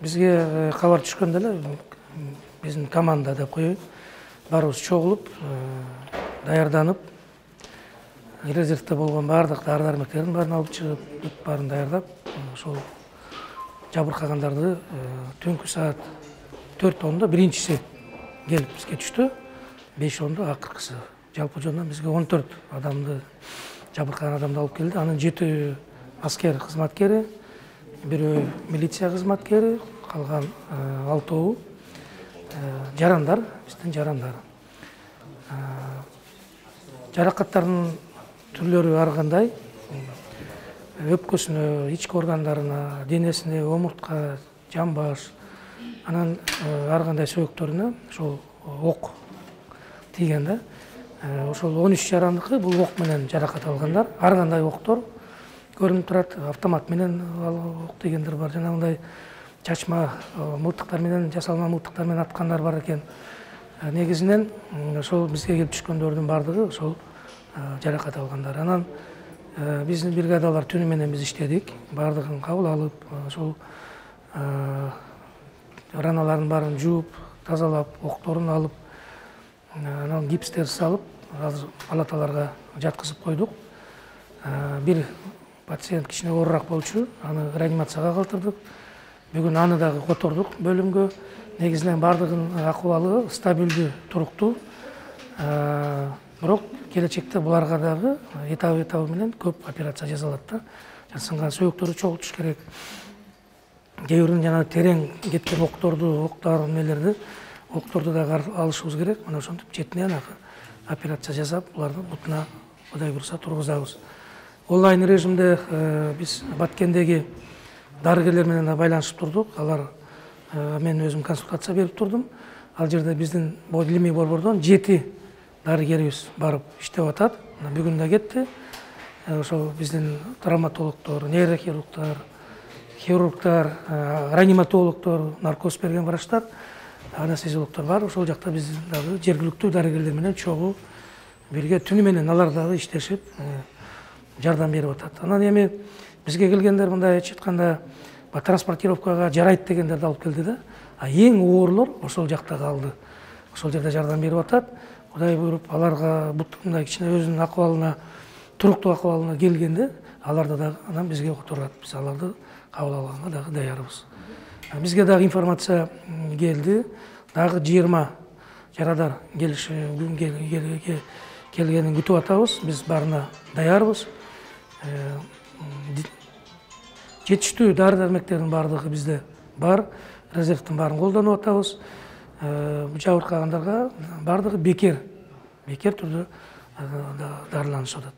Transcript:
Бизге кабар түшкөндө эле биздин команда деп коеюн, баарыбыз чогулуп, даярданып, резервде болгон баардык дары-дармектердин баарын алып чыгып, бүт баарын даярдап, ошол жабыркагандарды түнкү саат 4:10 биринчиси келип бизге түштү, 5:10 акыркысы. Жалпы жондан бизге 14 адамды, жабыркаган адамды алып келди. Анын 7 аскер кызматкери, бирөө милиция кызматкери, калган 6 жарандар, биздин жарандар. Жаракаттардын түрлөрү ар кандай. Өпкөсүнө, ички органдарына, денесине, омуртка, жамбаш, анан ар кандай сөөктөрүнө ошол ок тийген да. Ошол 13 жарандыкы бул ок менен жаракат алгандар. Ар кандай октор көрүнүп турат, автомат менен ок тийгендер бар, жанагындай чачма мылтыктар менен, жасалма мылтыктар менен аткандар бар экен. Негизинен ошол бизге келип түшкөндөрдүн баардыгы ошол жаракат алгандар. Анан биздин бригадалар түнү менен биз иштедик, баардыгын кабыл алып, ошол раналарын баарын жууп, тазалап, окторун алып, анан гипстерди салып, азыр палаталарга жаткызып койдук. Бир пациент кичине оорураак болчу, аны реанимацияга калтырдык. Бүгүн аны дагы котордук бөлүмгө. Негизинен баардыгынын акыбалы стабилдүү, туруктуу. Бирок келечекте буларга дагы этап менен көп операция жасалат да. Сынган сөөктөрдү чогултуш керек. Кээ бирин жана терең кеткен октор нелерди, окторду дагы алышыбыз керек. Мына ошентип четинен операция жасап, булардын бутуна Кудай буйруса тургузабыз. Онлайн режимде биз Баткендеги дарыгерлер менен байланышып турдук. Алар мен өзүм консультация берип турдум. Ал жерде биздин илимий борбордон 7 дарыгерибиз барып иштеп атат. Бүгүн да кетти. Ошол биздин травматологдор, нейрохирургдар, хирургдар, реаниматологдор, наркоз берген врачтар, анестезиологдор бар. Ошол жакта биздин дагы жергиликтүү дарыгерлер менен чогуу бирге түнү менен алар дагы иштешип жардам берип атат. Анан эми бизге келгендер мындай айтып айтканда транспортировкага жарайт дегендерди алып келди да. Эң оорлор ошол жакта калды. Ошол жерде жардам берип атат. Кудай буйруп, аларга мындай кичине өзүнүн акыбалына, туруктуу акыбалына келгенде, аларды дагы анан бизге которат. Биз аларды кабыл алганга дагы даярбыз. Бизге дагы информация келди. Дагы 20 жарадар келгенин күтүп атабыз. Биз барына даярбыз. Жетиштүү дары-дармектердин баардыгы бизде бар. Резервдин баарын колдонуп атабыз. Жабыркагандарга баардыгы бекер түрдө дарыланышып атат.